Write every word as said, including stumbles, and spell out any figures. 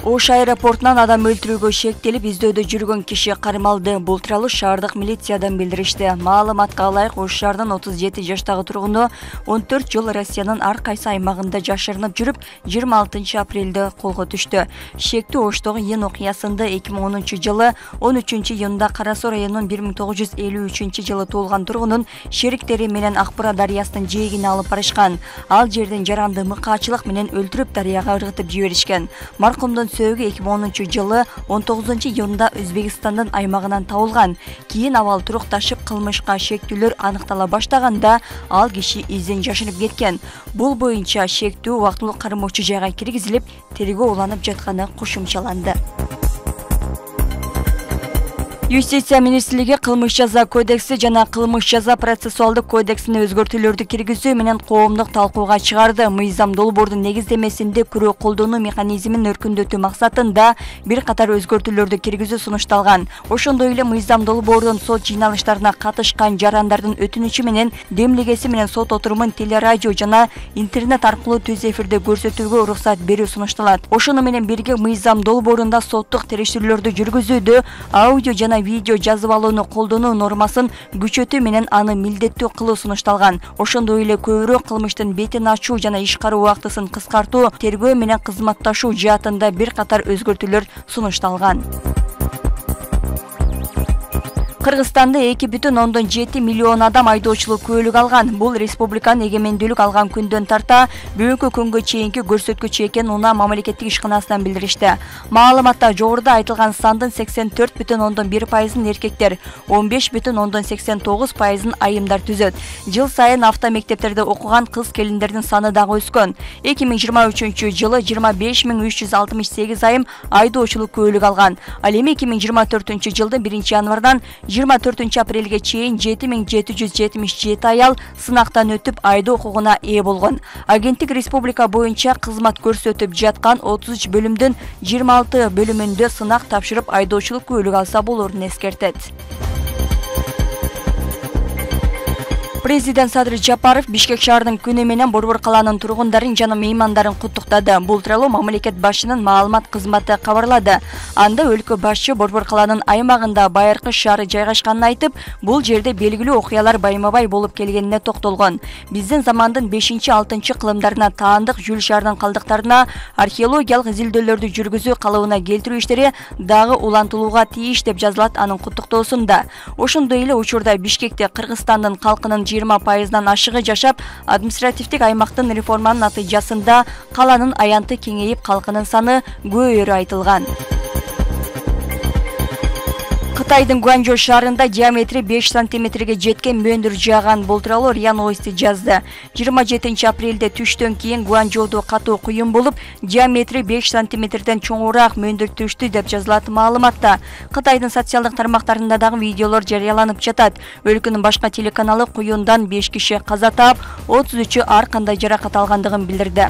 Ош аэропортунан адам өлтүрүүгө шектелип издөөдө жүргөн киши кармалды. Бул тууралуу шаардык милициядан билдиришти. Маалыматка ылайык, Ош шаарынын отуз жети жаштагы тургуну он төрт жыл Россиянын ар кайсы аймагында жашырынып жүрүп, жыйырма алтынчы апрелде колго түштү. Шектүү Оштогу Ен окуясында эки миң онунчу жылы он үчүнчү июнда Кара Суу районунун бир миң тогуз жүз элүү үчүнчү жылы туулган тургунун шериктери менен Акбура дарыясынын жээгине алып барышкан. Ал жерден жаранды мыкаачылык менен өлтүрүп дарыяга ыргытып жиберишкен. Маркумдун сөөгү эки миң онунчу жылы он тогузунчу июнда Өзбекстандын аймагынан табылган. Кийин абал турукташып, кылмышка шектүүлөр аныктала баштаганда ал киши изден жашынып кеткен. Бул боюнча шектүү убактылуу кармоочу жайга киргизилип, тергөө уланып жатканы кошумчаланды. Юстиция министрлиги кылмыш жаза кодекси жана кылмыш жаза процессуалдык кодексине өзгөртүүлөрдү киргизүү менен коомдук талкууга чыгарды. Мыйзам долбоордун негиздемесинде күрөө колдонуу механизмин өркүндөтүү максатында бир катар өзгөртүүлөрдү киргизүү сунушталган. Ошондой эле мыйзам долбоордун сот жыйналыштарына катышкан жарандардын өтүнүчү менен демилгеси менен сот отурумун телерадио жана интернет аркылуу түз эфирде көрсөтүүгө уруксат берүү сунушталат. Ошону менен бирге мыйзам долбоорунда соттук териштирүүлөрдү жүргүзүүдө аудио жана видео жазып алууну колдонуу нормасын күчөтүү менен аны милдеттүү кылуу сунушталган. Ошондой эле көбүрөөк кылмыштын бетин ачуу жана иш кароо убактысын кыскартуу, тергөө менен кызматташуу жаатында бир катар өзгөртүүлөр сунушталган. Кыргызстанда эки бүтүн ондон жети миллион адам айдоочулук күбөлүк алган. Бул республиканын эгемендүүлүк алган күндөн тарта бүгүнкү күнгө чейинки көрсөткүч экенин Унаа мамлекеттик ишканасынан билдиришти. Маалыматта жогоруда айтылган сандын сексен төрт бүтүн ондон бир пайызын эркектер, он беш бүтүн ондон сексен тогуз пайызын айымдар түзөт. Жыл сайын автомектептерде окуган кыз келиндердин саны дагы өскөн. эки миң жыйырма үчүнчү жылы жыйырма беш миң үч жүз алтымыш сегиз айым айдоочулук күбөлүк алган. Ал эми эки миң жыйырма төртүнчү жылдын биринчи январдан жыйырма төртүнчү апрелге чейин жети миң жети жүз жетимиш жети аял сынактан өтүп айдоо укугуна ээ болгон. Агенттик республика боюнча кызмат көрсөтүп жаткан отуз үч бөлүмдүн жыйырма алты бөлүмүндө сынак тапшырып айдоочулук күбөлүк алса болорун эскертет. Президент Садыр Жапаров Бишкек шаарынын күнү менен Борбор калаанын тургундарын жана меймандарын куттуктады. Бул тууралуу мамлекет башчынын маалымат кызматы кабарлады. Анда өлкө башчы Борбор калаанын аймагында Байыркы шаары жайгашканын айтып, бул жерде белгилүү окуялар байма-бай болуп келгенине токтолгон. Биздин замандын бешинчи алтынчы кылымдарына таандык Жүл шаарынын калдыктарына археологиялык изилдөөлөрдү жүргүзүү калыбына келтирүү иштери дагы улантылууга тийиш деп жазылат анын куттуктоосунда. Ошондой эле учурда Бишкекте Кыргызстандын калкынын жыйырма пайызынан ашыгы жашап, административдик аймактын реформанын натыйжасында каланын аянты кеңейип, калкынын саны көбөйөрү айтылган. Кытайдын Гуанчжоу шаарында диаметри беш сантиметрге жеткен мөндүр жааган. Бул тууралуу РИА Новости жазды. жыйырма жетинчи апрелде түштөн кийин Гуанчжоудо катуу куюм болуп, диаметри беш сантиметрден чоңураак мөндүр түштү деп жазылат маалыматта. Кытайдын социалдык тармактарында дагы видеолор жарыяланып жатат. Өлкөнүн башка телеканалы куюндан беш киши каза таап, отуз үчү ар кандай жаракат алгандыгын билдирди.